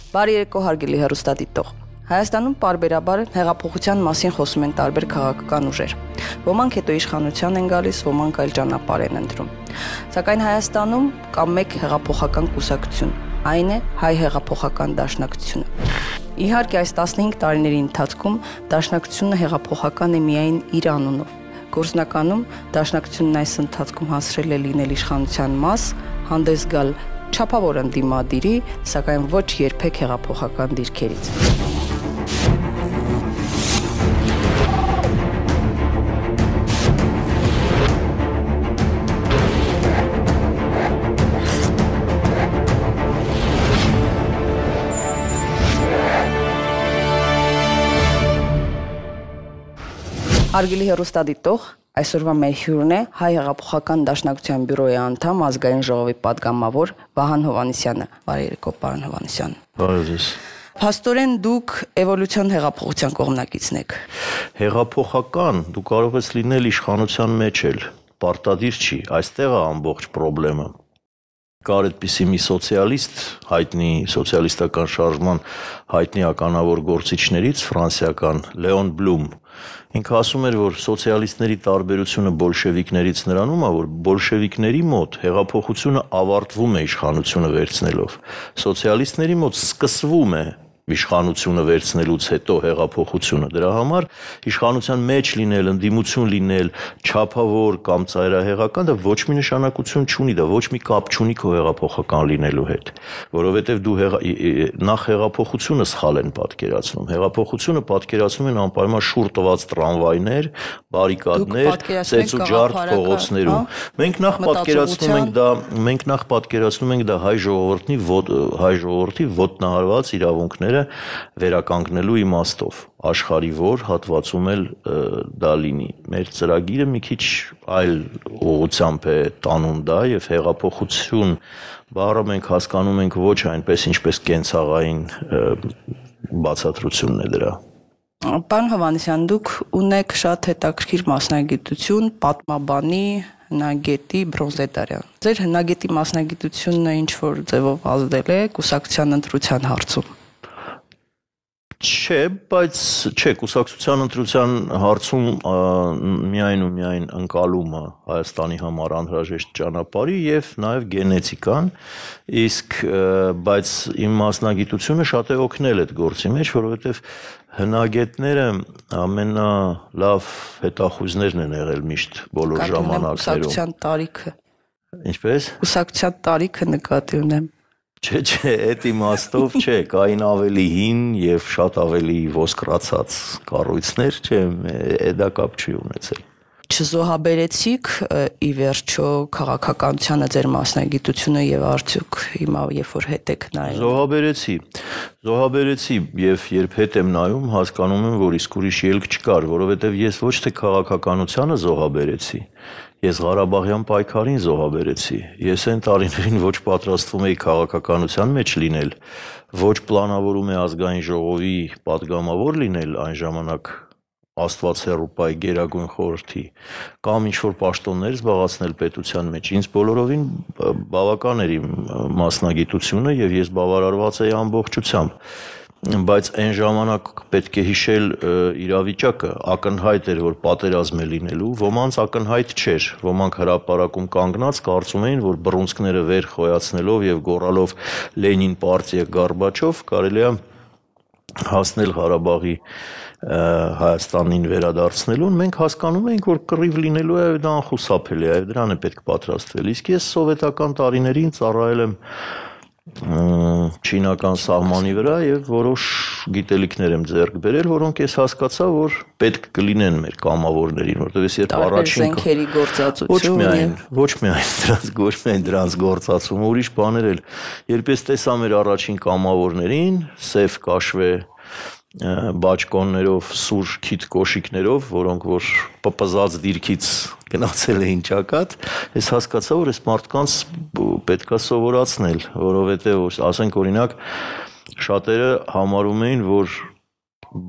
Բարի երեկո հարգելի հեռուստադիտող։ Հայաստանում պարբերաբար հեղափոխության մասին խոսում են տարբեր քաղաքական ուժեր։ Ոմանք հետո իշխանության են գալիս, ոմանք այլ ճանապարհ են ընտրում։ Սակայն Հայաստանում կա մեկ հեղափոխական կուսակցություն, այն է Հայ հեղափոխական դաշնակցությունը։ Իհարկե այս 15 տարիների ընթացքում դաշնակցությունը հեղափոխական է միայն իր անունով։ Գործնականում դաշնակցությունն այս ընթացքում հասրել է լինել իշխանության մաս, հանդես գալ չափավոր ընդդիմադիրի, սակայն ոչ երբեք հեղափոխական դիրքերից։ Հարգելի հեռուստադիտող, այսօրվա մեր հյուրն է Հայ հեղափոխական դաշնակցության բյուրոյի անդամ, ազգային ժողովի падգամավոր Վահան Հովհաննիսյանը։ Բարի երեկո, պարոն Հովհաննիսյան։ Բարի ձեզ։ Փաստորեն դուք էվոլյուցիոն հեղափոխության կողմնակիցն եք։ Հեղափոխական դու կարող ես լինել իշխանության մեջ էլ, պարտադիր չի, այստեղ է ամբողջ խնդրեմը։ Կար այդպիսի մի սոցիալիստ, հայտնի սոցիալիստական շարժման հայտնի ականավոր գործիչներից ֆրանսիական Լեոն Բլում, ինքը ասում էր, որ սոցիալիստների տարբերությունը բոլշևիկներից նրանում է, որ բոլշևիկների մոտ հեղափոխությունը ավարտվում է իշխանությունը վերցնելով, սոցիալիստների մոտ սկսվում է իշխանությունը վերցնելուց հետո հեղափոխությունը, դրա համար իշխանության մեջ լինել, ընդդիմություն լինել, չափավոր կամ ծայրահեղական, դա ոչ մի նշանակություն չունի, դա ոչ մի կապ չունի քո հեղափոխական լինելու հետ, որովհետև դու նախ հեղափոխությունը սխալ են պատկերացնում, հեղափոխությունը պատկերացնում են անպայման շուռ տված տրամվայներ, բարիկադներ, ծեծ ու ջարդ փողոցներում, մենք նախ պատկերացնում ենք դա հայ ժողովրդի ոտնահարված իրավունքները վերականգնելու իմաստով, աշխարհի որ հատվածում էլ դա լինի։ Մեր ծրագիրը մի քիչ այլ ուղղությամբ է տանում դա եւ հեղափոխություն բառը մենք հասկանում ենք ոչ այնպես, ինչպես կենցաղային բացատրությունն է դրա։ Պարոն Հովհաննիսյան, դուք ունեք շատ հետաքրքիր մասնագիտություն, պատմաբանի, հնագետի, բրոնզետարյան։ Ձեր հնագետի մասնագիտությունը ինչ որ ձևով ազդել է կուսակցության ընտրության հարցում։ Չէ, բայց չէ, կուսակցության ընտրության հարցում միայն ու միայն ընկալումը Հայաստանի համար անհրաժեշտ ճանապարհի եւ նաեւ գենետիկան, իսկ բայց իմ մասնագիտությունը շատ է օգնել այդ գործի մեջ, որովհետեւ հնագետները ամենալավ հետախույզներն են եղել միշտ բոլոր ժամանակներում։ Կուսակցության տարիքը։ Ինչպես։ Կուսակցության տարիքը նկատի ունեմ։ Չէ, այդ իմաստով չէ, կային ավելի հին եւ շատ ավելի ոսկրացած կառույցներ, չէ, դա կապ չի ունեցել։ Չզոհաբերեցիք ի վերջո քաղաքականությանը ձեր մասնագիտությունը եւ արդյոք հիմա երբ որ հետ եք նայում։ Զոհաբերեցի եւ երբ հետ եմ նայում, հասկանում եմ, որ իսկ ուրիշ ելք չկար, որովհետեւ ես ոչ թե քաղաքականությանը զոհաբերեցի, ես Ղարաբաղյան պայքարին զոհաբերեցի։ Ես այն տարիներին ոչ պատրաստվում էի քաղաքականության մեջ լինել, ոչ պլանավորում էի ազգային ժողովի падգամավոր լինել այն ժամանակ Աստված հեռու պայ գերագույն խորհրդի կամ ինչ-որ պաշտոններ զբաղացնել պետության մեջ, ինձ բոլորովին բավական էր իմ մասնագիտությունը եւ ես բավարարված էի ամբողջությամբ, բայց այն ժամանակ պետք է հիշել իրավիճակը, ակնհայտ էր, որ պատերազմ է լինելու, ոմանց ակնհայտ չէր, ոմանք հրապարակում կանգնած կարծում էին, որ բռունցքները վեր խոյացնելով եւ գոռալով Լենին պարտիա Գորբաչով կարելի է հասնել Ղարաբաղի Հայաստանին վերադարձնելուն, մենք հասկանում ենք, որ կռիվ լինելու է, դա անխուսափելի է, դրան է պետք պատրաստվել։ Իսկ ես սովետական տարիներին ծառայել եմ չինական սահմանի վրա եւ որոշ գիտելիքներ եմ ձեռք բերել, որոնք ես հասկացա, որ պետք կլինեն մեր կամավորներին, որտեղ ես երբ առաջին զենքերի գործածություն, ոչ միայն դրանց գործածումը, ուրիշ բաներ էլ, երբ ես տեսա մեր առաջին կամավորներին, սև կաշվե բաճկոններով, սուր քիթ կոշիկներով, որոնք որ պպզած դիրքից գնացել էին ճակատ, ես հասկացա, որ այս մարդկանց պետքա սովորացնել, որովհետև ասենք օրինակ շատերը համարում էին, որ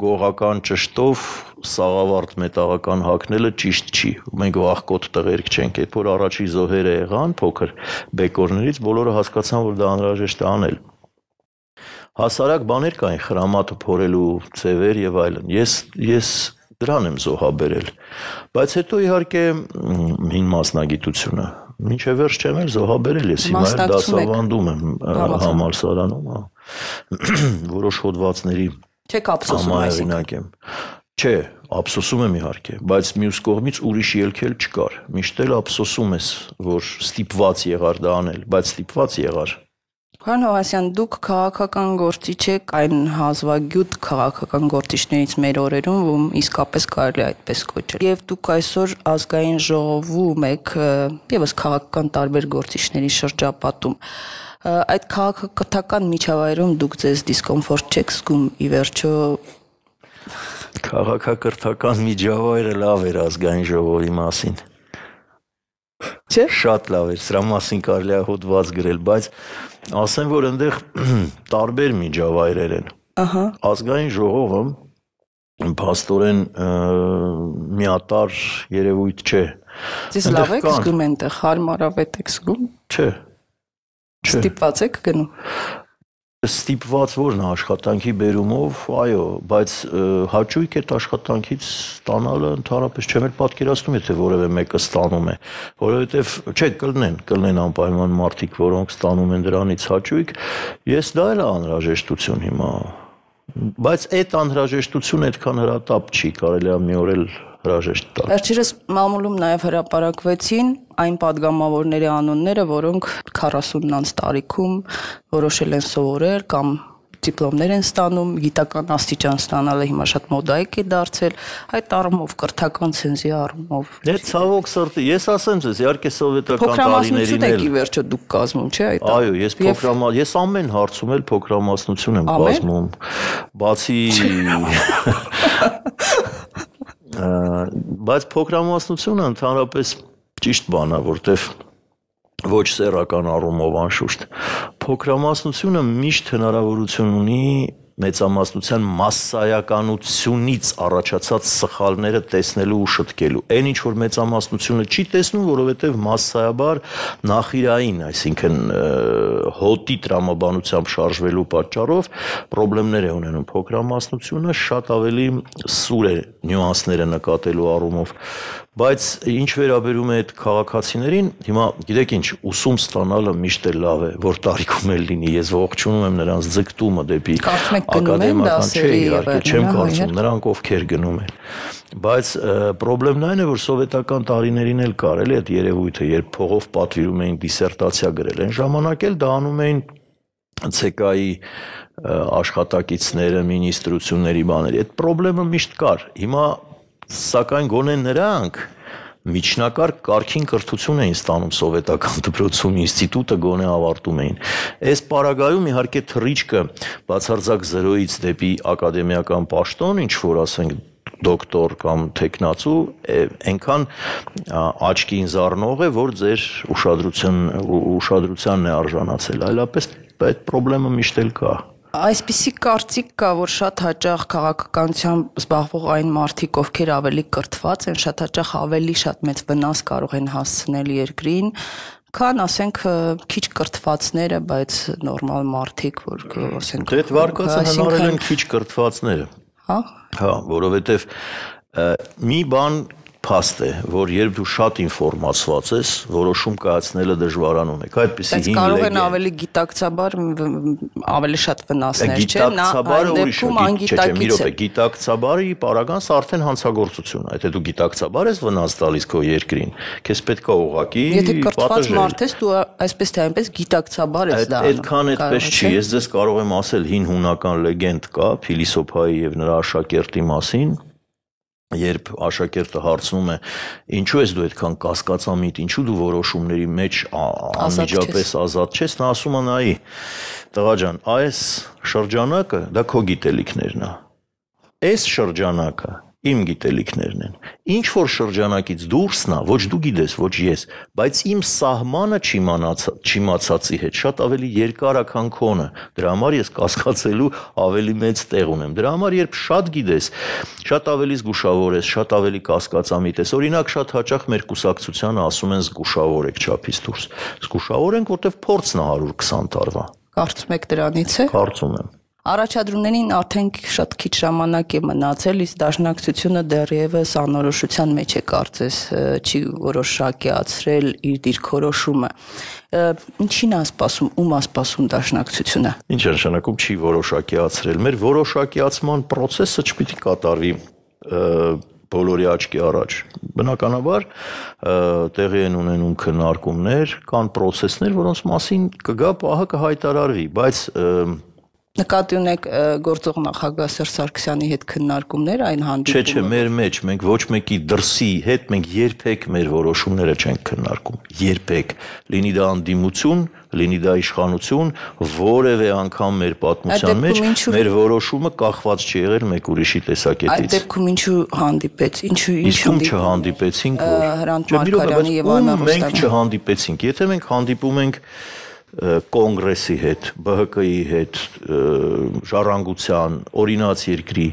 գողական ճշտով սաղավարտ մետաղական հագնելը ճիշտ չի։ Մենք վախկոտ տղերք չենք, երբ որ առաջի զոհերը եղան փոքր բեկորներից, բոլորը հասկացան, որ դա անհրաժեշտ է անել։ Հասարակ բաներ կային, խրամատը փորելու ձևեր եւ այլն։ Ես դրան եմ զոհաբերել։ Բայց հետո իհարկե հին մասնագիտությունը մինչև վերջ չեմ էլ զոհաբերել, ես հիմա էլ դասավանդում եմ համալսարանում, որոշ հոդվածների չեք ափսոսում այսինքն։ Չէ, ափսոսում եմ իհարկե, բայց մյուս կողմից ուրիշ ելք էլ չկար։ Միշտ էլ ափսոսում ես, որ ստիպված եղար դա անել, բայց ստիպված եղար։ Պարոն Հովհաննիսյան, դուք քաղաքական գործիչ եք, այն հազվագյուտ քաղաքական գործիչներից մեր օրերում, ում իսկապես կարելի այդպես կոչել։ Եվ դուք այսօր ազգային ժողովում եք, եւս քաղաքական տարբեր գործիչների շրջապատում։ Այդ քաղաքական միջավայրում դուք ձեզ դիսկոմֆորտ չեք զգում, ի վերջո քաղաքակրթական միջավայրը լավ էր ազգային ժողովի մասին։ Չէ՞։ Շատ լավ էր, սրա մասին կարելի է հոդված գրել, բայց ասեմ, որ այնտեղ տարբեր միջավայրեր են։ Ահա։ Ազգային ժողովը փաստորեն միատար երևույթ չէ։ Ձեզ լավ եք զգում այնտեղ, հարմարավետ եք զգում։ Չէ։ Ստիպված եք գնում։ Ստիպված որն աշխատանքի բերումով, այո, բայց հաճույք այդ աշխատանքից ստանալը ընդհանրապես չեմ էլ պատկերացնում, եթե որևէ մեկը ստանում է, որովհետև չէ, կլինեն անպայման մարդիկ, որոնք ստանում են դրանից հաճույք, ես դա էլ անհրաժեշտություն հիմա, բայց այդ անհրաժեշտությունը այդքան հրատապ չի, կարելի է մի օր էլ հրաժեշտ տալ։ Վերջերս մամուլում նաև հրապարակվեցին այն падգամավորների անունները, որոնք 40 անց տարիքում որոշել են սովորել կամ դիպլոմներ են ստանում, գիտական աստիճան ստանալը հիմա շատ մոդայիկ է դարձել, այդ առումով կրթական ցենզի առումով։ Դե ցավոք սրտի, ես ասեմ ձեզ, իհարկե սովետական տարիներին էլ ի վերջո դուք կազմում, չէ՞ այդ։ Այո, ես ամեն հարցում էլ փոքրամասնություն եմ կազմում, բացի բայց փոքրամասնությունը ընդհանրապես ճիշտ բան է, որտեվ ոչ սեռական առումով անշուշտ փոքրամասնությունը միշտ հնարավորություն ունի մեծամասնության մասսայականությունից առաջացած սխալները տեսնելու ու շտկելու։ Այն ինչ որ մեծամասնությունը չի տեսնում, որովհետև մասսայաբար նախիրային, այսինքն հոտի տրամաբանությամբ շարժվելու պատճառով խնդիրներ է ունենում փոքրամասնությունը, շատ ավելի սուր է նյուանսները նկատելու առումով։ Բայց ինչ վերաբերում է այդ քաղաքացիներին, հիմա գիտեք ինչ, ուսում ստանալը միշտ է լավ է, որ տարիքում էլ լինի, ես ողջունում եմ նրանց ձգտումը դեպի ակադեմիական, չէ, իհարկե չեմ կարծում, նրանք ովքեր գնում են։ Բայց խնդրեմն այն է, որ սովետական տարիներին էլ կար էլի այդ երևույթը, երբ փողով պատվիրում էին դիսերտացիա գրել, այն ժամանակ էլ դա անում էին ՑԿ-ի աշխատակիցները, մինիստրությունների բաների, այդ խնդրեմը միշտ կար։ Հիմա սակայն գոնե նրանք միջնակարգ կարգին կրթություն էին ստանում սովետական դպրոցում, ինստիտուտը գոնե ավարտում էին։ Այս պարագայում իհարկե թռիչքը բացարձակ 0-ից դեպի ակադեմիական պաշտոն, ինչ որ ասենք դոկտոր կամ տեխնացու, այնքան աչքին զառնող է, որ ձեր ուշադրությանն է արժանացել, այլապես այդ խնդրեմը միշտ էլ կա։ Այսպիսի կարծիք կա, որ շատ հաճախ քաղաքականությամբ զբաղվող այն մարդիկ, ովքեր ավելի կրթված են, շատ հաճախ ավելի շատ մեծ վնաս կարող են հասցնել երկրին, քան ասենք քիչ կրթվածները, բայց նորմալ մարդիկ, որ ասենք Դե վարկածը հնարել են քիչ կրթվածները։ Հա, որովհետև մի բան փաստ է, որ երբ դու շատ ինֆորմացված ես, որոշում կայացնելը դժվարանում է։ Այդպեսի հին լեգենդ։ Բայց կարող են ավելի գիտակցաբար ավելի շատ վնասներ, չէ՞, նա այն դեպքում անգիտակից է։ Գիտակցաբարի պարագանս արդեն հանցագործություն է։ Եթե դու գիտակցաբար ես վնաս տալիս քո երկրին, քեզ պետք է ուղղակի Եթե կրթված մարդ ես, դու այսպես թե այնպես գիտակցաբար ես դա։ Այդքան այդպես չի։ Ես ձեզ կարող եմ ասել հին հունական լեգենդ կա Փիլիսոփայի եւ նրա աշակերտի մասին։ Երբ աշակերտը հարցնում է, ինչու ես դու այդքան կասկածամիտ, ինչու դու որոշումների մեջ անմիջապես ազատ չես, նա ասում է նայի, տղա ջան, այս շրջանակը դա քո գիտելիքներն է։ Այս շրջանակը իմ գիտելիքներն են։ Ինչ որ շրջանակից դուրսն է, ոչ դու գիտես, ոչ ես, բայց իմ սահմանը չիմացածի հետ շատ ավելի երկար է, քան քոնը։ Դրա համար ես կասկածելու ավելի մեծ տեղ ունեմ։ Դրա համար երբ շատ գիտես, շատ ավելի զգուշավոր ես, շատ ավելի կասկածամիտ ես։ Օրինակ շատ հաճախ մեր կուսակցությանը ասում են զգուշավոր եք չափից դուրս։ Զգուշավոր ենք, որտեվ փորձն է 120 տարվա։ Կարծում եք դրանից է։ Կարծում եմ։ Առաջադրումներին արդեն շատ քիչ ժամանակ է մնացել, իսկ դաշնակցությունը դեռևս անորոշության մեջ է կարծես, չի որոշակիացրել իր դիրքորոշումը։ Ինչին է սպասում, ում է սպասում դաշնակցությունը։ Ինչ է նշանակում չի որոշակիացրել։ Մեր որոշակիացման process-ը չպիտի կատարվի բոլորի աչքի առաջ։ Բնականաբար տեղի են ունենում քննարկումներ, կան process-ներ, որոնց մասին կգա պահը կհայտարարվի, բայց Նկատի ունեք գործող նախագահ Սերժ Սարգսյանի հետ քննարկումներ այն հանդիպումը։ Չէ, մեր մեջ մենք ոչ մեկի դրսի հետ մենք երբեք մեր որոշումները չենք քննարկում։ Երբեք, լինի դա անդիմություն, լինի դա իշխանություն, որևէ անգամ մեր պատմության մեջ մեր որոշումը կախված չի եղել մեկ ուրիշի տեսակետից։ Այդ դեպքում ինչու հանդիպեց, ինչու չհանդիպեցինք, որ մենք չհանդիպեցինք։ Եթե մենք հանդիպում ենք կոնգրեսի հետ, ԲՀԿ-ի հետ, ժառանգության, օրինաց երկրի,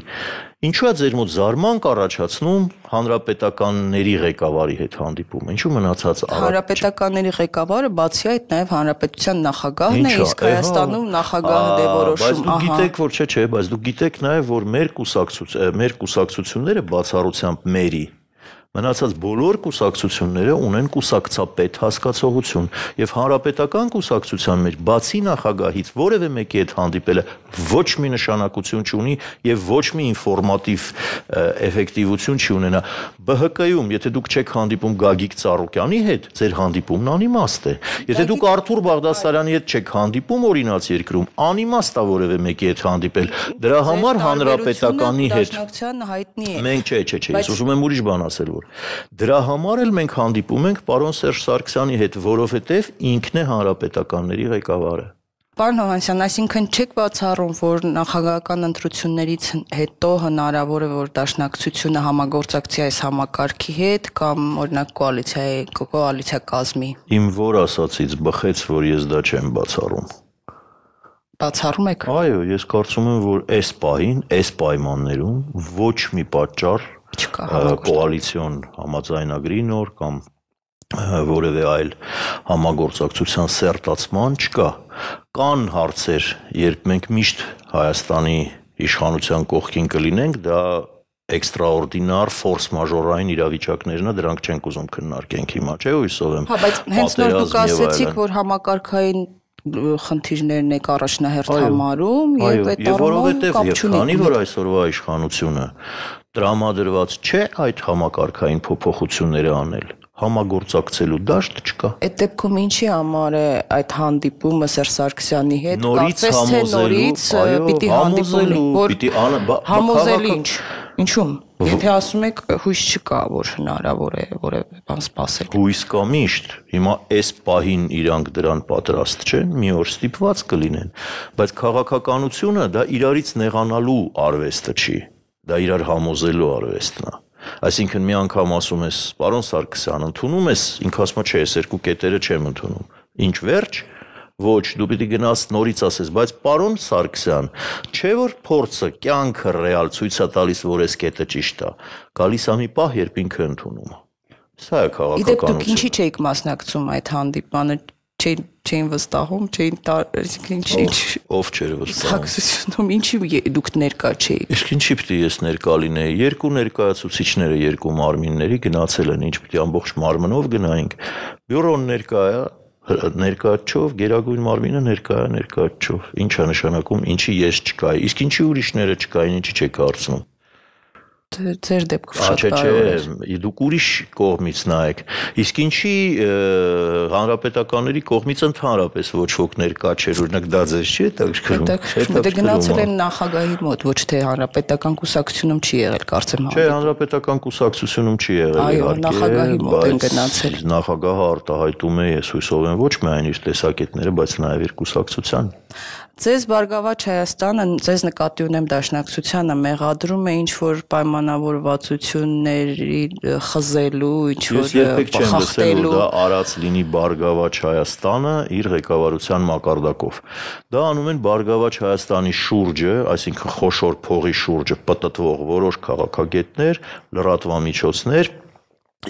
ինչու է ձեր մոտ զարմանք առաջացնում հանրապետականների ղեկավարի հետ հանդիպում, ինչու մնացած հանրապետականների ղեկավարը բացի այդ նաև հանրապետության նախագահն է, իսկ Հայաստանում նախագահը դե որոշում, բայց դուք գիտեք, որ չէ, բայց դուք գիտեք նաև, որ մեր կուսակցությունները բացառությամբ մերի Մնացած բոլոր կուսակցությունները ունեն կուսակցապետ հասկացողություն եւ հանրապետական կուսակցության մեջ բացի նախագահից որևէ մեկի հետ հանդիպելը ոչ մի նշանակություն չունի եւ ոչ մի ինֆորմատիվ էֆեկտիվություն չի ունենա ԲՀԿ-ում եթե դուք չեք հանդիպում Գագիկ Ծառուկյանի հետ ձեր հանդիպումն անիմաստ է եթե դուք Արթուր Բաղդասարյանի հետ չեք հանդիպում օրինաց երկրում անիմաստ է որևէ մեկի հետ հանդիպել դրա համար հանրապետականի հետ մենք չէ ես ուզում եմ ուրիշ բան ասել Դրա համար էլ մենք հանդիպում ենք պարոն Սերժ Սարգսյանի հետ, որովհետև ինքն է հանրապետականների ղեկավարը։ Պարոն Հովհաննիսյան, այսինքն չեք բացառում, որ նախագահական ընտրություններից հետո հնարավոր է, որ դաշնակցությունը համագործակցի այս համակարգի հետ կամ օրինակ կոալիցիա կազմի։ Իմ որ ասացից բխեց, որ ես դա չեմ բացառում։ Բացառում եք։ Այո, ես կարծում եմ, որ այս պահին, այս պայմաններում ոչ մի պատճառ կոալիցիոն համաձայնագրի նոր կամ որևէ այլ համագործակցության սերտացման չկա։ Կան հարցեր, երբ մենք միշտ Հայաստանի իշխանության կողքին կլինենք, դա էքստրաորդինար, ֆորս մաժորային իրավիճակներն են, դրանք չենք ուզում քննարկենք հիմա, չէ՞ հույսով եմ։ Հա, բայց հենց նոր դուք ասեցիք, որ համակարգային խնդիրներն եք առաջնահերթ համարում եւ այդ որովհետեւ քանի որ այսօրվա իշխանությունը տրամադրված չէ այդ համակարգային փոփոխությունները անել համագործակցելու դաշտ չկա այդ դեպքում ինչի համար է այդ հանդիպումը Սերժ Սարգսյանի հետ կարծես թե նորից պիտի հանդիպում համոզել ինչու՞մ Եթե ասում եք հույս չկա, որ հնարավոր է որևէ բան սպասել։ Հույս կա միշտ։ Հիմա այս պահին իրանք դրան պատրաստ չեն, մի օր ստիպված կլինեն, բայց քաղաքականությունը դա իրարից նեղանալու արվեստը չի, դա իրար համոզելու արվեստն է։ Այսինքն մի անգամ ասում ես, պարոն Սարգսյան, ընդունում ես, ինքը ասում է, չէ, ես երկու կետերը չեմ ընդունում։ Ինչ վերջ Ոչ, դու պիտի գնաս նորից ասես, բայց պարոն Սարգսյան, չէ որ փորձը, կյանքը ռեալ ցույց է տալիս, որ այս կետը ճիշտ է։ Գալիս է մի պահ, երբ ինքը ընդունում է։ Սա է քաղաքականությունը։ Դուք ինչի չէիք մասնակցում այդ հանդիպմանը, չէին վստահում, չէին ով չէր վստահում։ Սակսությունում ինչի դուք ներկա չէիք։ Իսկ ինչի պիտի ես ներկա լինեի։ Երկու ներկայացուցիչները, երկու մարմինների գնացել են, ինչ պիտի ամբողջ մարմնով գնայինք։ Բյուրոն ներկա է ներկայացով գերագույն մարմինը ներկայացով ինչ է նշանակում ինչի ես չկայի իսկ ինչի ուրիշները չկային ինչի չեք հարցնում ձեր դեպքում շատ կարևոր է չէ դուք ուրիշ կողմից նայեք իսկ ինչի հանրապետականների կողմից ընդհանրապես ոչ ոք ներկա չէր օրինակ դա ձեզ չի հետաքրքրում դե գնացել են նախագահի մոտ ոչ թե հանրապետական կուսակցությունում չի եղել կարծեմ չէ հանրապետական կուսակցությունում չի եղել այո նախագահի մոտ են գնացել նախագահը արտահայտում է ես հույսով եմ ոչ միայն իր տեսակետները բայց նաև իր կուսակցության Ձեզ Բարգավաճ Հայաստանը, ձեզ նկատի ունեմ դաշնակցությանը մեղադրում է ինչ-որ պայմանավորվածությունների խզելու, ինչ-որ փոխախտելու դա արած լինի Բարգավաճ Հայաստանը իր ղեկավարության մակարդակով։ Դա անում են Բարգավաճ Հայաստանի շուրջը, այսինքն խոշոր փողի շուրջը պտտվող որոշ քաղաքագետներ, լրատվամիջոցներ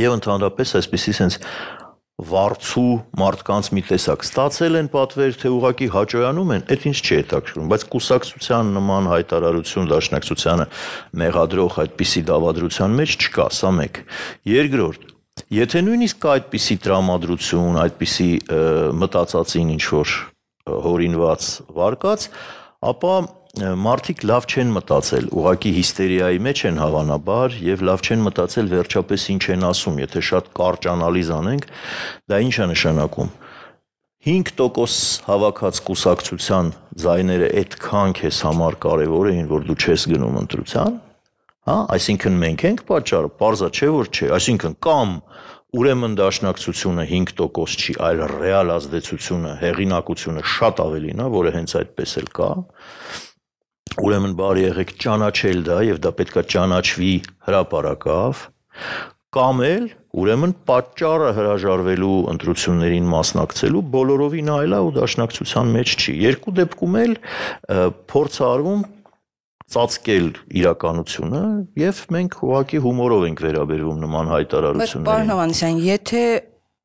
եւ ընդհանրապես այսպիսի sense վարձու մարդկանց մի տեսակ ստացել են պատվեր, թե ուղղակի հաճոյանում են, այդ ինձ չի հետաքրքրում, բայց կուսակցության նման հայտարարություն Դաշնակցությանը մեղադրող այդպիսի դավադրության մեջ չկա, սա մեկ։ Երկրորդ, եթե նույնիսկ կա այդպիսի տրամադրություն, այդպիսի մտածածին ինչ-որ հորինված վարկած, ապա մարդիկ լավ չեն մտածել, ուղղակի հիստերիայի մեջ են հավանաբար եւ լավ չեն մտածել վերջապես ինչ են ասում, եթե շատ կարճ անալիզ անենք, դա ինչ է նշանակում։ 5% հավաքած կուսակցության ձայները այդքան քեզ համար կարևոր էին, որ դու չես գնում ընտրության, հա, այսինքն մենք ենք պատճառը, պարզա չէ որ չէ, այսինքն կամ ուրեմն Դաշնակցությունը 5% չի, այլ ռեալ ազդեցությունը, հեղինակությունը շատ ավելին է, որը հենց այդպես էլ կա։ Ուրեմն բարի եղեք ճանաչել դա եւ դա պետքա ճանաչվի հրապարակավ, կամ էլ ուրեմն պատճառը հրաժարվելու ընտրություններին մասնակցելու բոլորովին այլ է ու Դաշնակցության մեջ չի։ Երկու դեպքում էլ փորձ արվում ծածկել իրականությունը եւ մենք ուղղակի հումորով ենք վերաբերվում նման հայտարարություններին։ Պարոն Հովհաննիսյան, եթե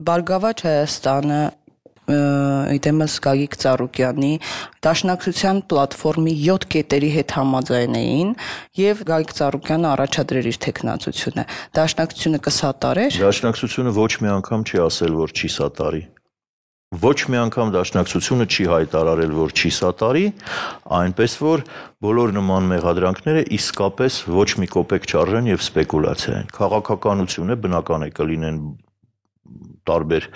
Բարգավաճ Հայաստանը իդեմս Գագիկ Ծառուկյանի Դաշնակցության պլատֆորմի 7 կետերի հետ համաձայնեին եւ Գագիկ Ծառուկյանը առաջադրեր իր տեխնացությունը, Դաշնակցությունը կսատարեր։ Դաշնակցությունը ոչ մի անգամ չի ասել, որ չի սատարի։ Ոչ մի անգամ Դաշնակցությունը չի հայտարարել, որ չի սատարի, այնպես որ բոլոր նման մեղադրանքները իսկապես ոչ մի կոպեկ չարժեն եւ սպեկուլյացիա են։ Քաղաքականություն է, բնական է կլինեն տարբեր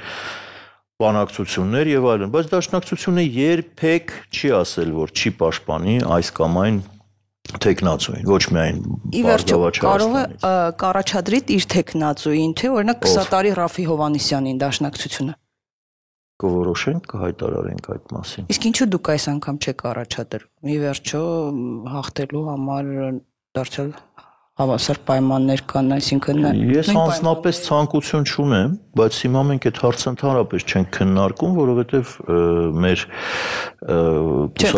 բանակցություններ եւ այլն, բայց Դաշնակցությունը երբեք չի ասել, որ չի պաշտպանի այս կամ այն տեխնացուին, ոչ միայն Բարգավաճ կարող է կառաջադրի իր տեխնացուին, թե օրինակ կսատարի Ռաֆի Հովհաննիսյանին Դաշնակցությունը։ Կորոշենք, կհայտարարենք այդ մասին։ Իսկ ինչու դուք այս անգամ չեք առաջադրում։ Ի վերջո հաղթելու համար դարձյալ հավասար պայմաններ կան, այսինքն ես անձնապես ցանկություն չունեմ, բայց հիմա մենք այդ հարցը ընդհանրապես չենք քննարկում, որովհետև մեր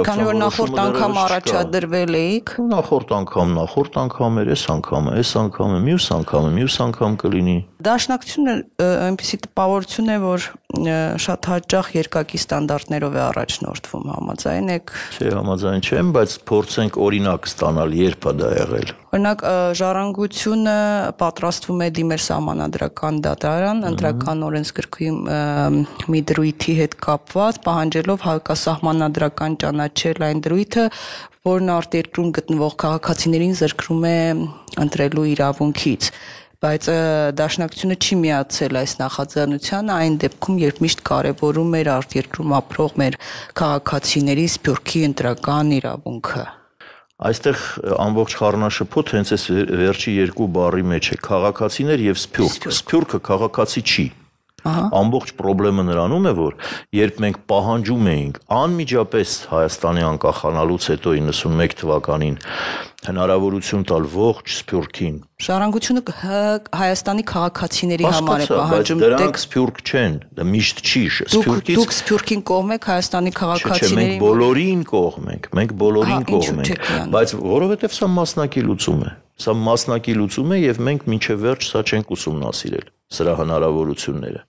քանի որ նախորդ անգամ առաջադրվել էիք, նախորդ անգամ էր, այս անգամը, մյուս անգամ կլինի։ Դաշնակցությունը այնպեսի տպավորություն է, որ շատ հաճախ երկակի ստանդարտներով է առաջնորդվում, համաձայն եք։ Չէ, համաձայն չեմ, բայց փորձենք օրինակ ստանալ, երբ է դա եղել։ Օրինակ Ժառանգությունը պատրաստվում է դիմել Սահմանադրական դատարան, ընտրական օրենսգրքի մի դրույթի հետ կապված, պահանջելով հակասահմանադրական ճանաչել այն դրույթը, որն արտերկրում գտնվող քաղաքացիներին զրկում է ընտրելու իրավունքից։ Բայց Դաշնակցությունը չի միացել այս նախաձեռնությանը այն դեպքում, երբ միշտ կարևորում էր արտերկրում ապրող մեր քաղաքացիների սփյուռքի ընտրական իրավունքը։ Այստեղ ամբողջ խառնաշփոթ հենց այս վերջի երկու բառի մեջ է քաղաքացիներ եւ սփյուռք։ Սփյուռքը քաղաքացի չի։ Ամբողջ խնդրումը նրանում է, որ երբ մենք պահանջում էինք անմիջապես Հայաստանի անկախանալուց հետո 91 թվականին հնարավորություն տալ ողջ սփյուռքին, Ժառանգությունը Հայաստանի քաղաքացիների համար է պահանջում, դրանք սփյուռք չեն, դա միշտ չի, սփյուռքից դուք սփյուռքին կողմ եք Հայաստանի քաղաքացիների։ Մենք բոլորին կողմ ենք, բայց որովհետև սա մասնակի լուծում է։ Սա մասնակի լուծում է եւ մենք մինչեւ վերջ սա չենք ուսումնասիրել, սրա հնարավորությունները։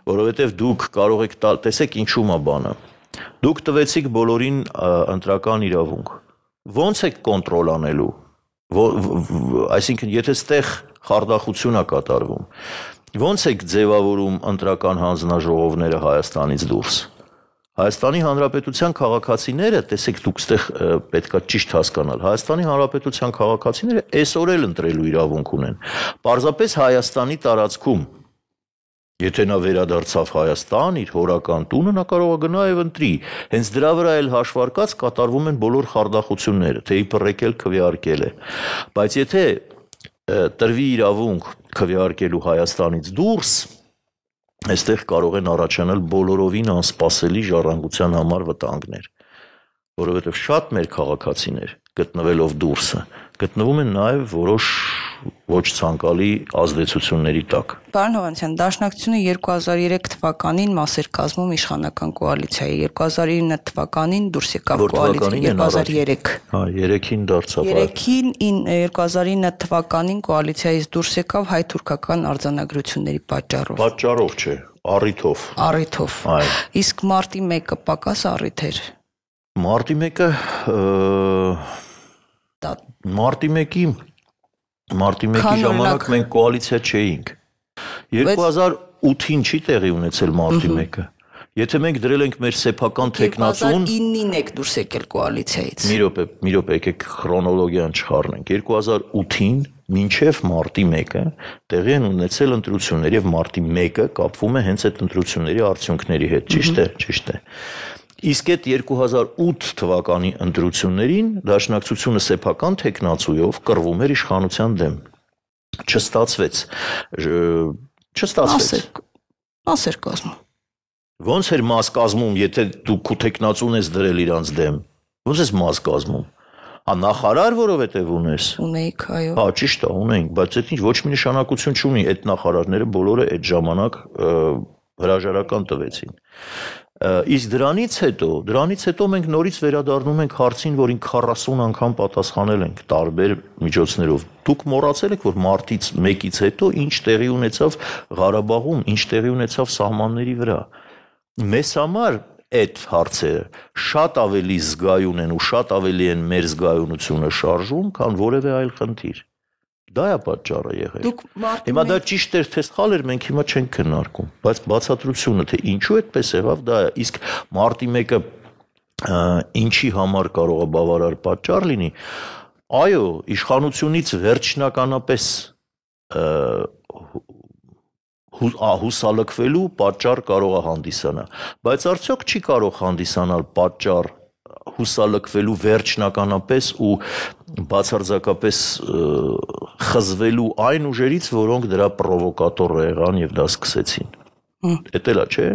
Որովհետև դուք կարող եք տալ, տեսեք ինչու՞ է բանը։ Դուք տվեցիք բոլորին ընտրական իրավունք։ Ոնց եք կոնտրոլ անելու։ Այսինքն, եթե ստեղ խարդախություն է կատարվում, ոնց եք ձևավորում ընտրական հանձնաժողովները Հայաստանից դուրս։ Հայաստանի Հանրապետության քաղաքացիները, տեսեք դուք ստեղ պետքա ճիշտ հասկանալ, Հայաստանի Հանրապետության քաղաքացիները այսօր էլ ընտրելու իրավունք ունեն։ Պարզապես Հայաստանի տարածքում, եթե նա վերադարձավ Հայաստան, իր հորական տունը, նա կարող է գնա եւ ընտրի։ Հենց դրա վրա էլ հաշվարկած կատարվում են բոլոր խարդախությունները, թե իբր եկել քվեարկել է։ Բայց եթե տրվի իրավունք քվեարկելու Հայաստանից դուրս, այստեղ կարող են առաջանալ բոլորովին անսպասելի ժառանգության համար վտանգներ, որովհետև շատ մեր քաղաքացիներ գտնվելով դուրսը գտնվում են նաև որոշ ոչ ցանկալի ազդեցությունների տակ։ Պարոն Հովհաննիսյան, Դաշնակցությունը 2003 թվականին մաս էր կազմում իշխանական կոալիցիայի, 2009 թվականին դուրս եկավ կոալիցիա, 2003։ Հա, 3-ին դարձավ։ 2009 թվականին կոալիցիայից դուրս եկավ հայ-թուրքական արձանագրությունների պատճառով։ Պատճառով չէ, Առիթով։ Իսկ մարտի 1-ը պակաս առիթ էր։ Մարտի 1-ը Մարտի 1-ի ժամանակ մենք կոալիցիա չէինք։ 2008-ին չի տեղի ունեցել մարտի 1-ը։ Եթե մենք դրել ենք մեր սեփական տեխնացուն 2009-ին եք դուրս եկել կոալիցիայից։ Մի րոպե, եկեք քրոնոլոգիան չխառնենք։ 2008-ին մինչև մարտի 1-ը տեղի են ունեցել ընտրություններ եւ մարտի 1-ը կապվում է հենց այդ ընտրությունների արդյունքների հետ, ճիշտ է։ Իսկ այդ 2008 թվականի ընտրություններին Դաշնակցությունը սեփական տեխնացույով կռվում էր իշխանության դեմ։ Չստացվեց։ Մաս էր կազմում։ Ոնց էր մաս կազմում, եթե դու քո տեխնացուն ես դրել իրանց դեմ։ Ոնց ես մաս կազմում։ Նախարար, որովհետև ունես։ Ունեիք, այո։ Հա, ճիշտ է, ունեինք, բայց դա ոչ մի նշանակություն չունի, այդ նախարարները բոլորը այդ ժամանակ հրաժարական տվեցին։ Իսկ դրանից հետո մենք նորից վերադառնում ենք հարցին, որին 40 անգամ պատասխանել ենք տարբեր միջոցներով։ Դուք մոռացել եք, որ մարտից 1-ից հետո ինչ տեղի ունեցավ Ղարաբաղում, ինչ տեղի ունեցավ սահմանների վրա։ Մեզ համար այդ հարցերը շատ ավելի զգայուն են ու շատ ավելի են մեր զգայունությունը շարժում, քան որևէ այլ խնդիր։ Դա է պատճառը եղել։ Հիմա դա ճիշտ էր, թե սխալ էր, մենք հիմա չենք քննարկում, բայց բացատրությունը, թե ինչու այդպես եղավ, դա է։ Իսկ մարտի 1-ը ինչի համար կարող է բավարար պատճառ լինի։ Այո, իշխանությունից վերջնականապես հուսալքվելու պատճառ կարող է հանդիսանալ, բայց արդյոք չի կարող հանդիսանալ պատճառ հուսալքվելու վերջնականապես ու բացարձակապես խզվելու այն ուժերից, որոնք դրա պրովոկատորը եղան եւ դա սկսեցին։ Էդ էլա, չէ՞։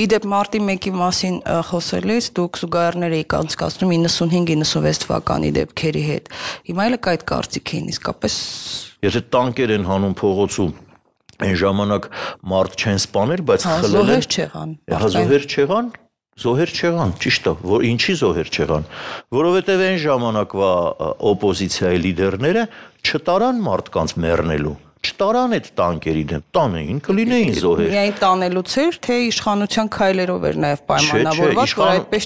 Իդեպ մարտի 1-ի մասին խոսելիս դուք զուգահեռներ եք անցկացնում 95-96 թվականի դեպքերի հետ։ Հիմա էլ այդ կարծիք էին իսկապես։ Եթե տանկեր են հանում փողոցում այն ժամանակ մարդ չեն սպանել, բայց խլել են։ Զոհեր չեղան, ճիշտ է, որ ինչի զոհեր չեղան, որովհետև այն ժամանակվա օպոզիցիայի լիդերները չտարան մարդկանց մեռնելու, չտարան այդ տանկերի դեմ, տանեին, կլինեին զոհեր։ Միայն տանելուց էր, թե իշխանության քայլերով էր նաև պայմանավորված, որ այդպես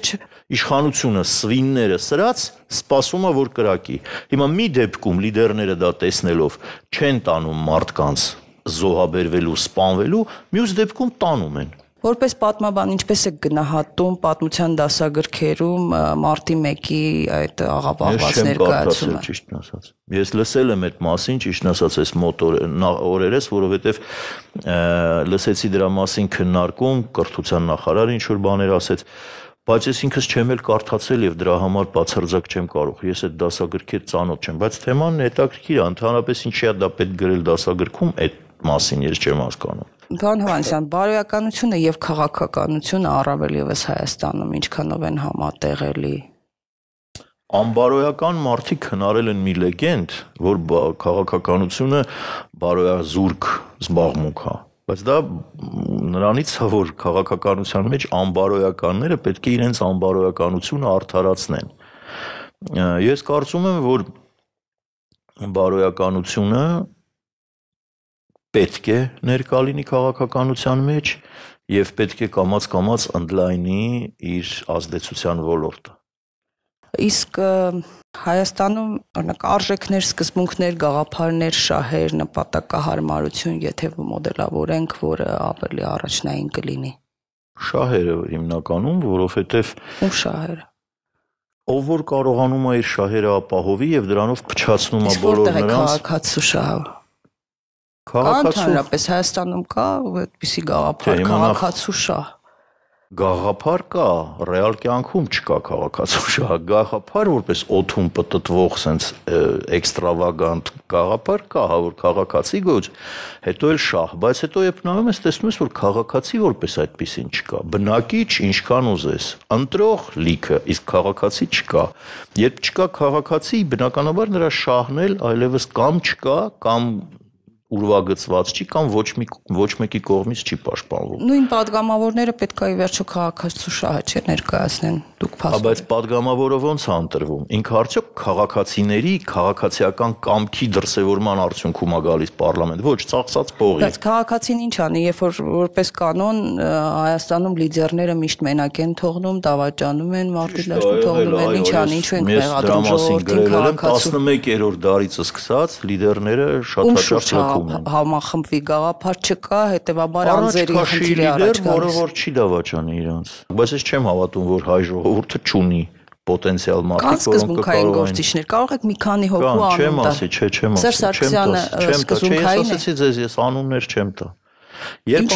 իշխանությունը սվինները սրած սպասում է, որ կրակի։ Հիմա մի դեպքում լիդերները դա տեսնելով չեն տանում մարդկանց զոհաբերվելու, սպանվելու, մյուս դեպքում տանում են։ Որպես պատմաբան, ինչպես եք գնահատում պատմության դասագրքերում մարտի 1-ի այդ աղավաղված ներկայացումը։ Ճիշտն ասած։ Ես լսել եմ այդ մասին, ճիշտն ասած, այս մոտ օրերս, որովհետև լսեցի դրա մասին քննարկում, կրթության նախարարը ինչ որ բաներ ասեց, բայց ես ինքս չեմ էլ կարդացել եւ դրա համար բացարձակ չեմ կարող։ Ես այդ դասագրքեր ծանոթ չեմ, բայց թեման հետաքրքիր է, ընդհանրապես ինչի է դա պետք գրել դասագրքում, այդ մասին ես չեմ հասկանում։ Պարոն Հովհաննիսյան, բարոյականությունը եւ քաղաքականությունը առավել եւս Հայաստանում ինչքանով են համատեղելի։ Անբարոյական մարդիկ հնարել են մի լեգենդ, որ քաղաքականությունը բարոյազուրկ զբաղմունք է, բայց դա նրանից է, որ քաղաքականության մեջ անբարոյականները պետք է իրենց անբարոյականությունը արդարացնեն։ Ես կարծում եմ, որ բարոյականությունը պետք է ներկա լինի քաղաքականության մեջ եւ պետք է կամաց ընդլայնի իր ազդեցության ոլորտը։ Իսկ Հայաստանում օրինակ արժեքներ, սկզբունքներ, գաղափարներ, շահեր, նպատակահարմարություն, եթե մոդելավորենք, որը ավելի առաջնային կլինի։ Շահերը հիմնականում, որովհետեւ ում շահերը։ Ով որ կարողանում է իր շահերը ապահովի եւ դրանով փչացնում է բոլոր նրանց։ Քաղաքացու շահը։ Կա ընդհանրապես Հայաստանում կա այդպիսի գաղափար, քաղաքացու շահ։ Գաղափար կա, ռեալ կյանքում չկա քաղաքացու շահ։ Գաղափար որպես օդում պտտվող sense էքստրավագանտ գաղափար կա, հա, որ քաղաքացի գոչ, հետո էլ շահ, բայց հետո երբ նայում ես, տեսնում ես, որ քաղաքացի որպես այդպիսին չկա։ Բնակիչ ինչքան ուզես, ընտրող լիքը, իսկ քաղաքացի չկա։ Երբ չկա քաղաքացի, բնականաբար նրա շահն էլ այլևս կամ չկա, կամ ուրվագծված չի կամ ոչ մեկի կողմից չի պաշտպանվում։ Նույն падգամավորները պետք է ի վերջո քաղաքացու շահը ներկայացնեն։ դուք փաստորեն։ Բայց падգամավորը ոնց է ընտրվում։ Ինքը արդյոք քաղաքացիների քաղաքացիական կամքի դրսևորման արդյունքում է գալիս պարլամենտ, ոչ ծախսած փողի։ Բայց քաղաքացին ինչ անի, երբ որ որպես կանոն Հայաստանում լիդերները միշտ մենակ են թողնում, դավաճանում են, մարդու դաշտում թողնում են, ինչ անի, ինչու են մեղադրում ժողովրդին քաղաքացու։ 11-րդ դարից սկսած լիդերները շատ հաճախ լքում են։ Համախմբվի գաղափար չկա, հետեւաբար անձերի խնդիրը առաջ գալիս։ Որը որ չի դավաճանի իրանց։ Բայց ես չեմ հավատում, որ հայ ժողովուրդը չունի պոտենցիալ մարդիկ, որոնք կարող են գործիչներ, կարող եք մի քանի հոգու անուն տալ։ Չեմ ասի, Սերժ Սարգսյանը սկզբունքային է։ Ես ասեցի ձեզ, ես անուններ չեմ տա։ Երբ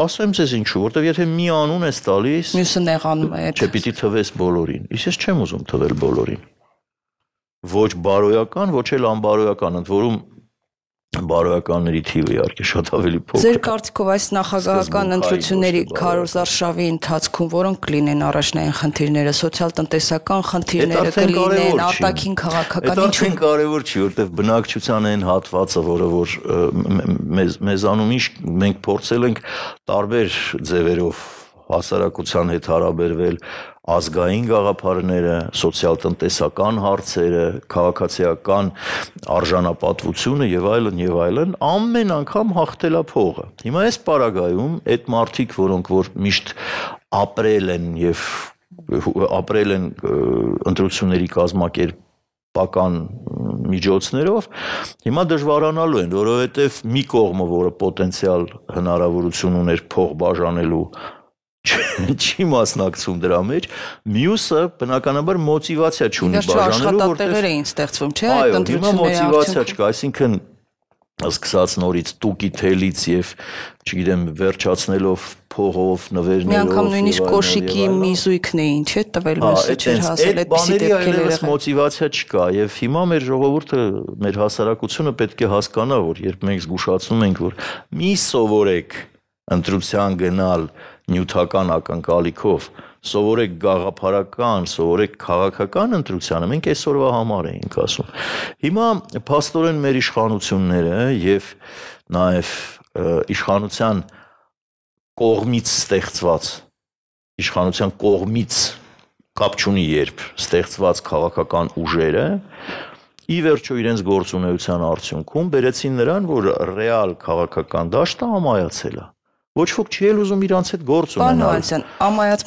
ասեմ ձեզ ինչու, որտեվ եթե մի անուն ես տալիս, մյուսը նեղանում է։ Չէ, պիտի թվես բոլորին։ Ես չեմ ուզում թվել բոլորին։ Ոչ բարոյական, ոչ էլ անբարոյական, ընդ որում բարոյականների թիվը իհարկե շատ ավելի փոքր։ Ձեր կարծիքով այս նախագահական ընտրությունների քարոզարշավի ընթացքում որոնք կլինեն առաջնային խնդիրները, սոցիալ-տնտեսական խնդիրները կլինեն, արտաքին քաղաքական ինչու՞։ Դա կարևոր չի, որտեղ բնակչության այն հատվածը, որը որ մեզանում ինչ մենք փորձել ենք տարբեր ձևերով հասարակության հետ հարաբերվել, ազգային գաղափարները, սոցիալ-տնտեսական հարցերը, քաղաքացիական արժանապատվությունը եւ այլն, ամեն անգամ հաղթել է փողը։ Հիմա այս պարագայում այդ մարդիկ, որոնք որ միշտ ապրել են ընտրությունների կազմակերպական միջոցներով, հիմա դժվարանալու են, որովհետեւ մի կողմը, որը պոտենցիալ հնարավորություն ուներ փող բաժանելու չի մասնակցում դրա մեջ, մյուսը բնականաբար մոտիվացիա չունի բաժանելու, աշխատատեղեր էին ստեղծվում, չէ՞, այդ ընտրությունների մոտիվացիա չկա, այսինքն սկսած նորից տուկի թելից եւ չգիտեմ վերջացնելով փողով, նվերներով։ Մի անգամ նույնիսկ կոշիկի միզույքն էին, չէ՞, տվել մյուսը չէր հասել, այդպիսի դեպքեր եղել։ Մոտիվացիա չկա եւ հիմա մեր ժողովուրդը, մեր հասարակությունը պետք է հասկանա, որ երբ մենք զգուշացնում ենք, որ մի սովորեք ընտրության գնալ նյութական ակնկալիքով, սովորեք գաղափարական, սովորեք քաղաքական ընտրությանը, մենք այսօրվա համար էինք ասում։ Հիմա փաստորեն մեր իշխանությունները եւ նաեւ իշխանության կողմից ստեղծված, իշխանության կողմից կապ չունի երբ ստեղծված քաղաքական ուժերը ի վերջո իրենց գործունեության արդյունքում բերեցին նրան, որ ռեալ քաղաքական դաշտը ամայացել է։ Ոչ ոք չի էլ ուզում իրանց հետ գործ ունենալ։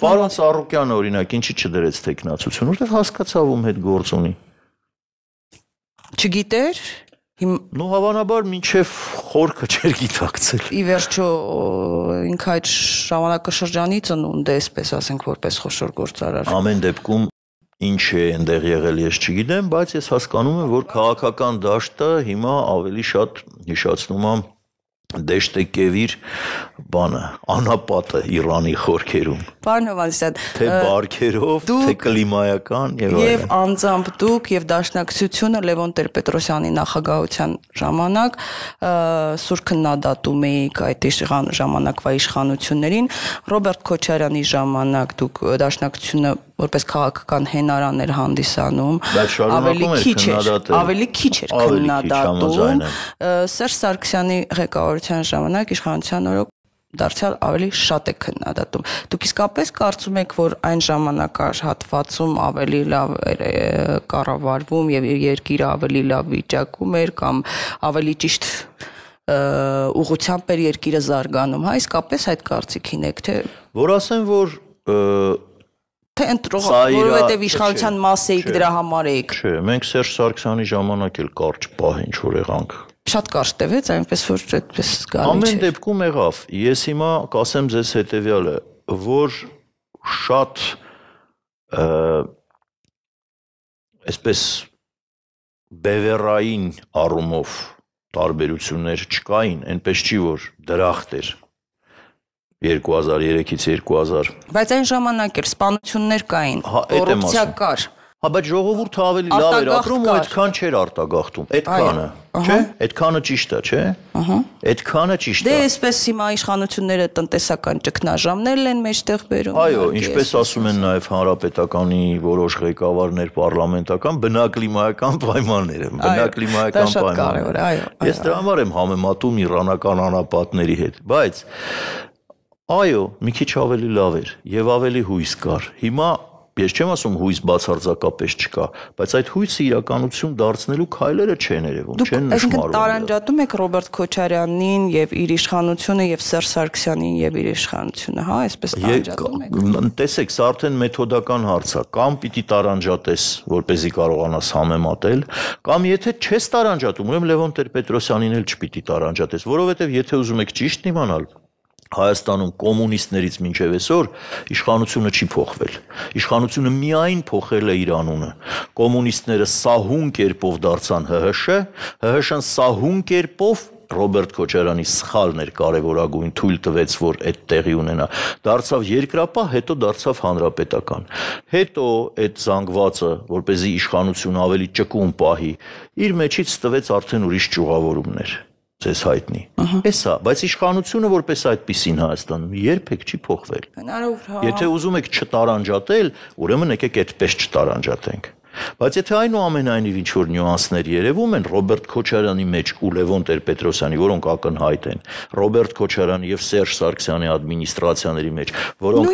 Պարոն Սարոկյանը օրինակ ինչի չդրեց տեխնացություն, որտեղ հասկացավ ում հետ գործ ունի։ Չգիտեր։ Նու հավանաբար մինչև խորքը չէր գիտակցել։ Ի վերջո ինքը այդ ժամանակաշրջանի ծնունդ է, այսպես ասենք, որպես խոշոր գործարար։ Ամեն դեպքում ինչ է այնտեղ եղել ես չգիտեմ, բայց ես հասկանում եմ, որ քաղաքական դաշտը հիմա ավելի շատ հիշացնում է Դեշտեկևիր բանը, անապատը Իրանի խորքերում։ Պարոն Հովհաննիսյան, թե բարքերով, թե կլիմայական եւ այլն։ Եվ անձամբ դուք եւ Դաշնակցությունը Լևոն Տեր-Պետրոսյանի նախագահության ժամանակ սուր քննադատում էիք այդ ժամանակվա իշխանություններին, Ռոբերտ Քոչարյանի ժամանակ դուք Դաշնակցությունը որպես քաղաքական հենարան էր հանդիսանում, ավելի քիչ էր քննադատում, Սերժ Սարգսյանի ղեկավարության ժամանակ իշխանության օրոք դարձյալ ավելի շատ է քննադատում։ Դուք իսկապես կարծում եք, որ այն ժամանակահատվածում ավելի լավ էր կառավարվում եւ երկիրը ավելի լավ վիճակում էր կամ ավելի ճիշտ ուղղությամբ էր երկիրը զարգանում, հա, իսկապես այդ կարծիքին եք, թե որ ասեմ, որ թե ընտրող, որովհետև իշխանության մաս էիք, դրա համար էիք։ Չէ, մենք Սերժ Սարգսյանի ժամանակ էլ կարճ պահ ինչ որ եղանք։ Շատ կարճ տևեց, այնպես որ այդպես զգալի չէ։ Ամեն դեպքում եղավ։ Ես հիմա կասեմ ձեզ հետևյալը, որ շատ այսպես բևեռային առումով տարբերություններ չկային, այնպես չի որ դրախտ էր 2003-ից 2000։ Բայց այն ժամանակ էր սպանություններ կային, կոռուպցիա կար։ Հա, բայց ժողովուրդը ավելի լավ էր ապրում ու այդքան չէր արտագաղթում։ Այդքանը, չէ՞։ Այդքանը ճիշտ է, չէ՞։ Այդքանը ճիշտ է։ Դե այսպես հիմա իշխանությունները տնտեսական ճգնաժամներն են մեջտեղ բերում։ Այո, ինչպես ասում են նաև հանրապետականի որոշ ղեկավարներ պարլամենտական բնակլիմայական պայմանները, բնակլիմայական պայմանները։ Ես դրա համար եմ համեմատում իրանական անապատների հետ, բայց այո, մի քիչ ավելի լավ էր եւ ավելի հույս կար։ Հիմա Ես չեմ ասում հույս բացարձակապես չկա, բայց այդ հույսը իրականություն դարձնելու քայլերը չեն երևում, չեն նշмарում։ Այսինքն տարանջատում եք Ռոբերտ Քոչարյանին եւ իր իշխանությունը եւ Սերժ Սարգսյանին եւ իր իշխանությունը, հա, այսպես տարանջատում եք։ Տեսեք, սա արդեն մեթոդական հարց է, կամ պիտի տարանջատես, որպեսզի կարողանաս համեմատել, կամ եթե չես տարանջատում, ուրեմն Լևոն Տեր-Պետրոսյանին էլ չպիտի տարանջատես, որովհետեւ եթե ուզում եք ճիշտ իմանալ, Հայաստանում կոմունիստներից մինչև այսօր իշխանությունը չի փոխվել։ Իշխանությունը միայն փոխել է իր անունը։ Կոմունիստները սահուն կերպով դարձան ՀՀՇ, ՀՀՇ-ն սահուն կերպով Ռոբերտ Քոչարյանի սխալն էր կարևորագույն, թույլ տվեց, որ այդ տեղի ունենա։ Դարձավ երկրապահ, հետո դարձավ հանրապետական։ Հետո այդ զանգվածը, որպեսզի իշխանությունը ավելի ճկուն պահի, իր մեջից տվեց արդեն ուրիշ ճյուղավորումներ։ Ձեզ հայտնի։ Էսա, բայց իշխանությունը որպես այդպիսին Հայաստանում երբեք չի փոխվել։ Եթե ուզում եք չտարանջատել, ուրեմն եկեք այդպես չտարանջատենք։ Բայց եթե այնուամենայնիվ ինչ որ նյուանսներ երևում են Ռոբերտ Քոչարյանի մեջ ու Լևոն Տեր-Պետրոսյանի, որոնք ակնհայտ են, Ռոբերտ Քոչարյանի եւ Սերժ Սարգսյանի ադմինիստրացիաների մեջ, որոնք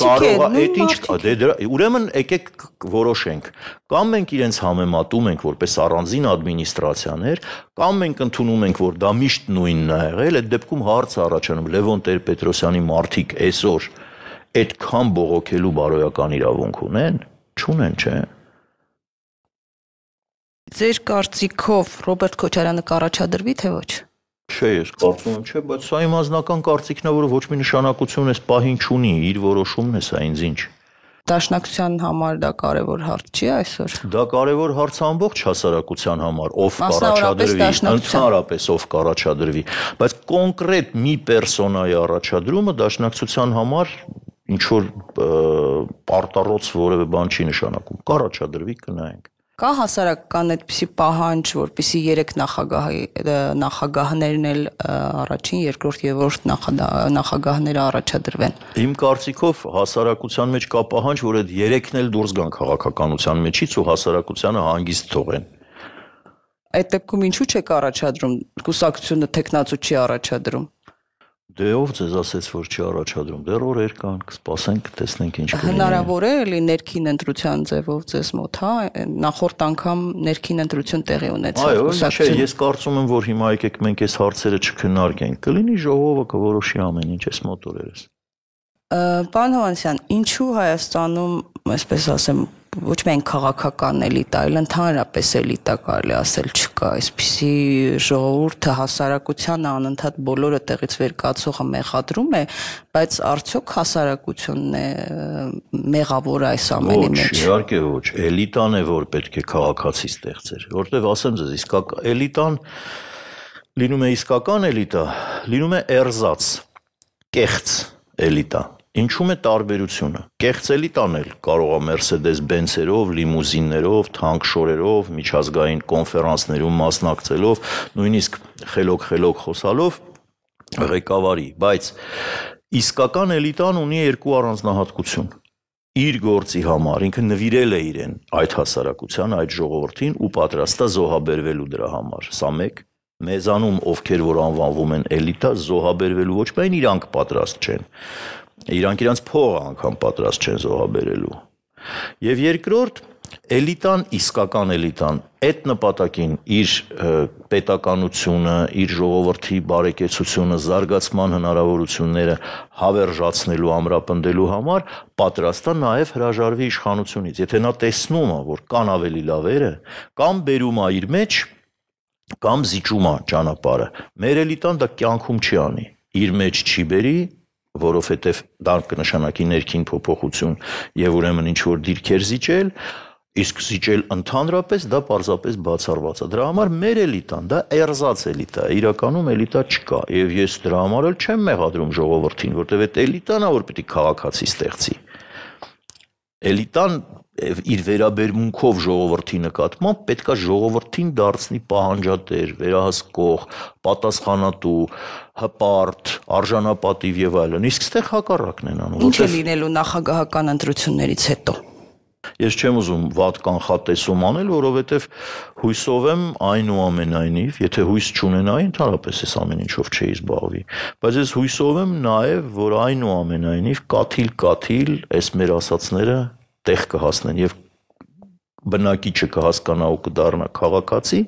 կարող է այդ ինչ ուրեմն եկեք որոշենք, կամ մենք իրենց համեմատում ենք որպես առանձին ադմինիստրացիաներ, կամ մենք ընդունում ենք, որ դա միշտ նույնն է եղել, այդ դեպքում հարց է առաջանում Լևոն Տեր-Պետրոսյանի մարդիկ այսօր այդքան բողոքելու բարոյական իրավունք ունեն, չունեն, չէ՞։ Ձեր կարծիքով Ռոբերտ Քոչարյանը կառաջադրվի, թե ոչ։ Չէ, ես կարծում եմ, չէ, բայց սա իմ անձնական կարծիքն է, որը ոչ մի նշանակություն այս պահին չունի, իր որոշումն է սա, ինձ ինչ։ Դաշնակցության համար դա կարևոր հարց չի այսօր։ Դա կարևոր հարց ամբողջ հասարակության համար, ով կառաջադրվի, ընդհանրապես ով կառաջադրվի, բայց կոնկրետ մի պերսոնայի առաջադրումը դաշնակցության համար ինչ որ պարտառոց որևէ բան չի նշանակում։ Կառաջադրվի, կնայենք։ Կա հասարակական այդպիսի պահանջ, որպեսզի 3 նախագահներն էլ առաջին, երկրորդ եւ երրորդ նախագահները առաջադրվեն։ Իմ կարծիքով հասարակության մեջ կա պահանջ, որ այդ 3-ն էլ դուրս գան քաղաքականության մեջից ու հասարակությանը հանգիստ թողեն։ Այդ դեպքում ինչու՞ չեք առաջադրում, կուսակցությունը տեխնացու չի առաջադրում։ Դե ով ձեզ ասեց, որ չի առաջադրում, դեռ օրեր կան, կսպասենք, կտեսնենք ինչ կլինի։ Հնարավոր է էլի ներքին ընտրության ձևով ձեզ մոտ, հա, նախորդ անգամ ներքին ընտրություն տեղի ունեցավ կուսակցությունը։ Այո, ես կարծում եմ, որ հիմա եկեք մենք այս հարցերը չքննարկենք, կլինի ժողովը կորոշի ամեն ինչ այս մոտ օրերս։ Պարոն Հովհաննիսյան, ինչու Հայաստանում, այսպես ասեմ, ոչ միայն քաղաքական էլիտա, այլ ընդհանրապես էլիտա կարելի ասել չկա, այսպիսի ժողովուրդը հասարակությանը անընդհատ բոլորը տեղից վեր կացողը մեղադրում է, բայց արդյոք հասարակությունն է մեղավորը այս ամենի մեջ։ Ոչ, իհարկե ոչ, էլիտան է, որ պետք է քաղաքացի ստեղծեր, որտեղ ասեմ ձեզ, էլիտան լինում է իսկական էլիտա, լինում է էրզաց, կեղծ էլիտա։ Ինչու՞մ է տարբերությունը։ Կեղծ էլիտան էլ կարող է Mercedes-Benz-երով, լիմուզիններով, թանկշորերով, միջազգային կոնֆերանսներում մասնակցելով, նույնիսկ խելոք խոսալով ղեկավարի, բայց իսկական էլիտան ունի երկու առանձնահատկություն։ Իր գործի համար ինքը նվիրել է իրեն այդ հասարակության, այդ ժողովրդին ու պատրաստ է զոհաբերվելու դրա համար։ Սա մեկ։ Մեզանում ովքեր որ անվանվում են էլիտա, զոհաբերվելու ոչ միայն իրանք պատրաստ չեն, իրանք իրանց փողը անգամ պատրաստ չեն զոհաբերելու։ Եվ երկրորդ, էլիտան, իսկական էլիտան, այդ նպատակին իր պետականությունը, իր ժողովրդի բարեկեցությունը, զարգացման հնարավորությունները հավերժացնելու, ամրապնդելու համար պատրաստ է նաև հրաժարվի իշխանությունից։ Եթե նա տեսնում է, որ կան ավելի լավերը, կամ բերում է իր մեջ, կամ զիջում է ճանապարհը։ Մեր էլիտան դա կյանքում չի անի։ Իր մեջ չի բերի, որովհետև դա կնշանակի ներքին փոփոխություն եւ ուրեմն ինչ որ դիրքեր զիջել, իսկ զիջել ընդհանրապես դա պարզապես բացառված է։ Դրա համար մեր էլիտան դա էրզաց էլիտա է, իրականում էլիտա չկա եւ ես դրա համար էլ չեմ մեղադրում ժողովրդին, որտեւ այդ էլիտան է, որ պիտի քաղաքացի ստեղծի։ Էլիտան իր վերաբերմունքով ժողովրդի նկատմամբ պետքա ժողովրդին դարձնի պահանջատեր, վերահսկող, պատասխանատու, հպարտ, արժանապատիվ եւ այլն։ Իսկ ստեղ հակառակն են անում։ Ինչ է լինելու նախագահական ընտրություններից հետո։ Ես չեմ ուզում վատ կանխատեսում անել, որովհետև հույսով եմ այնուամենայնիվ, եթե հույս չունենայի, ընդհանրապես այս ամեն ինչով չէի զբաղվի, բայց ես հույսով եմ նաև, որ այնուամենայնիվ կաթիլ այս մեր ասածները տեղ կհասնեն եւ բնակիչը կհասկանա ու կդառնա քաղաքացի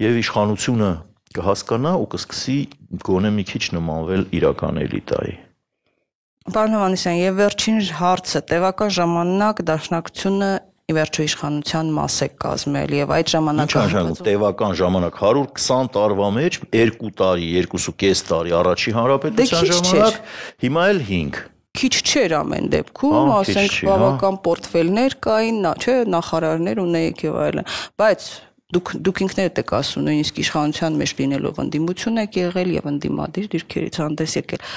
եւ իշխանությունը կհասկանա ու կսկսի գոնե մի քիչ նմանվել իրական էլիտայի։ Պարոն Հովհաննիսյան, եւ վերջին հարցը, տևական ժամանակ դաշնակցությունը ի վերջո իշխանության մաս է կազմել եւ այդ ժամանակահատվածում տևական ժամանակ 120 տարվա մեջ 2 տարի, 2.5 տարի առաջի հանրապետության ժամանակ, հիմա էլ 5 քիչ չէր ամեն դեպքում, ասենք բավական պորտֆելներ կային, չէ, նախարարներ ունեիք եւ այլն, բայց դուք ինքներդ եք ասում, նույնիսկ իշխանության մեջ լինելով ընդդիմություն եք եղել եւ ընդդիմադիր դիրքերից հանդես եկել։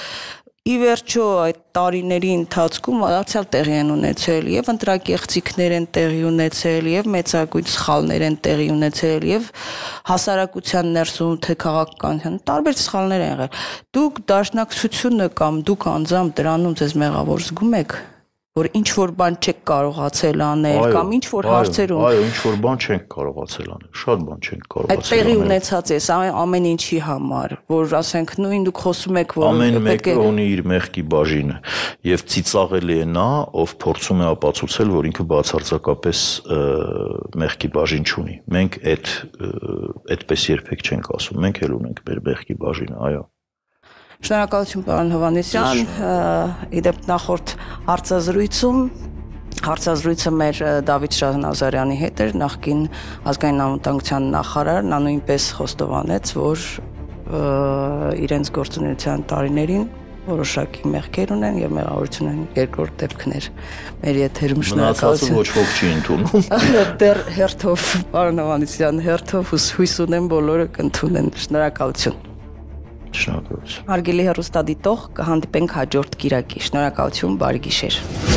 Ի վերջո այդ տարիների ընթացքում արդյալ տեղի են ունեցել եւ ընտրակեղծիքներ են տեղի ունեցել եւ մեծագույն սխալներ են տեղի ունեցել եւ հասարակության ներսում թե քաղաքականության տարբեր սխալներ են եղել։ Դուք դաշնակցությունը կամ դուք անձամբ դրանում ձեզ մեղավոր զգում եք, որ ինչ որ բան չեք կարողացել անել կամ ինչ որ հարցերում այո, ինչ որ բան չենք կարողացել անել, շատ բան չենք կարողացել անել։ Այդ տեղի ունեցած է ամեն ինչի համար, որ ասենք նույն դուք խոսում եք, որ ամեն մեկը ունի իր մեղքի բաժինը եւ ծիծաղելի է նա, ով փորձում է ապացուցել, որ ինքը բացարձակապես մեղքի բաժին չունի։ Մենք այդպես երբեք չենք ասում, մենք էլ ունենք մեր մեղքի բաժինը, այո։ Շնորհակալություն պարոն Հովհաննիսյան, իդեպ նախորդ հարցազրույցը մեր Դավիթ Շահնազարյանի հետ էր, նախկին ազգային անվտանգության նախարար, նա նույնպես խոստովանեց, որ իրենց գործունեության տարիներին որոշակի մեղքեր ունեն եւ մեղավորություն են երկրորդ դեպքներ։ Մեր եթերում շնորհակալություն։ Ոչ ոք չի ընդունում։ Դեռ հերթով պարոն Հովհաննիսյան, հերթով հույս ունեմ բոլորը կընդունեն։ Շնորհակալություն։ Շնորհակալություն։ Հարգելի հեռուստադիտող, կհանդիպենք հաջորդ կիրակի։ Շնորհակալություն, բարի գիշեր։